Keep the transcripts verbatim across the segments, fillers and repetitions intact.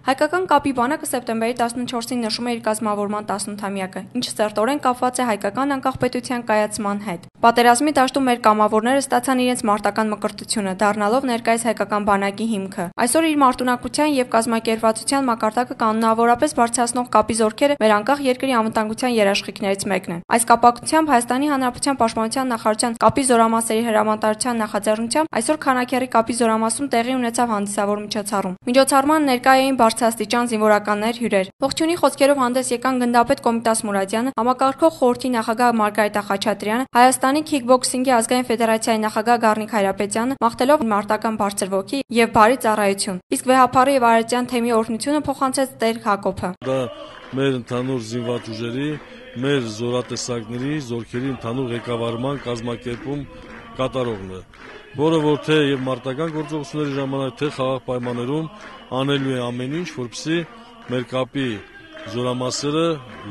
Հայկական կապի բանակը սեպտեմբերի տասնչորսին նշում է իր կազմավորման տասնութամյակը, ինչը սերտորեն կապված է հայկական անկախ պետության կայացման հետ։ Պատերազմի դաշտում մեր կամավորները ստացան իրենց մարտական մկրտությունը, դառնալով ներկայիս հայկական բանակի հիմքը։ Այսօր իր մարտունակության եւ կազմակերպվածության մակարդակը կանոնավորապես բարձրացնող կապի զորքերը մեր անկախ երկրի անվտանգության երաշխիքներից մեկն են։ Այս կապակցությամբ Հայաստանի Հանրապետության Պաշտպանության նախարարության կապի զորամասերի հրամանատարության նախաձեռնությամբ այսօր Քանաքեռի կապի զորամասում տեղի ունեցավ հանդիսավոր միջոցառում։ Միջոցառման ներկա էին բարձրաստիճան զինվորականներ, հյուրեր։ Ողջունի խոսքերով հանդես եկան գնդապետ Կոմիտաս Մուրադյանը, համակարգող խորհրդի նախագահ Մարգարիտա Խաչատրյանը, Հայաստանի քիքբոքսինգի ազգային ֆեդերացիայի նախագահ Գառնիկ Հայրապետյանը, մաղթելով մարտական բարձր ոգի եւ բարի ծառայություն։ Իսկ վեհափառի եւ արարչյան թեմի օրհնությունը փոխանցեց Տեր Հակոբը։ Դա մեր ընդհանուր զինված ուժերի, մեր զորատեսակների, զորքերի ընդհանուր ղեկավարման կազմակերպում կատարողն է, որը որ թե եւ մարտական գործողությունների ժամանակ, թե խաղաղ պայմաններում անելու է ամեն ինչ, որպեսզի մեր կապի զորամասերը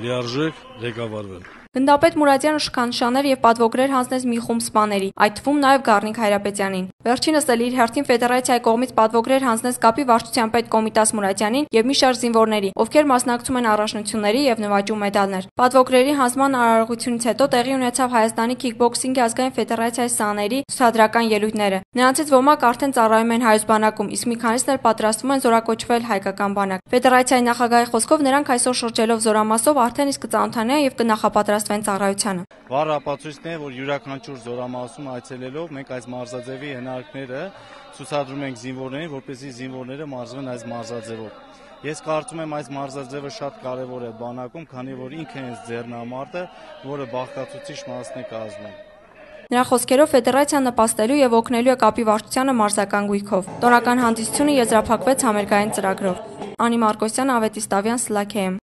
լիարժեք ղեկավարվեն։ Գնդապետ Մուրադյանը շքանշաններ եւ պատվոգրեր հանձնեց մի խումբ սպաների, այդ թվում նաեւ Գառնիկ Հայրապետյանին։ Վերջինս էլ իր հերթին ֆեդերացիայի կողմից պատվոգրեր հանձնեց կապի վարչության պետ Կոմիտաս Մուրադյանին եւ մի շարք զինվորների, ովքեր մասնակցում են առաջնությունների եւ նվաճում մեդալներ։ Պատվոգրերի հանձնման արարողությունից հետո տեղի ունեցավ Հայաստանի քիքբոքսինգի ազգային ֆեդերացիայի սաների ցուցադրական ելույթները։ Նրանցից ոմանք արդեն ծառայում են հայոց բանակում, իսկ մի քանիսն էլ պատրաստվում են զորակոչվել հայկական բանակ։ Ֆեդերացիայի նախագահի խոսքով նրանք այսօր շրջելով զորամասով արդեն իսկ կծանոթանան եւ կնախապատրաստվեն ծառայությանը։ Վառ ապացույցն է, որ յուրաքանչյուր զորամասում այցելելով մենք այս մարզաձևի հնարքները ցուցադրում ենք զինվորներին, որպեսզի զինվորները մարզվեն այս մարզաձևով։ Ես կարծում եմ այս մարզաձևը շատ կարևոր է բանակում, քանի որ ինքն է ձեռնամարտը, որը բաղկացուցիչ մասն է կազմում։ Նրա խոսքերով ֆեդերացիան նպաստելու եւ օգնելու է կապի վարչությանը մարզական գույքով։ Տոնական հանդիսությունը եզրափակվեց համերգային ծրագրով։ Անի Մարկոսյան, Ավետիս Տավյան, Սլաքեեմ։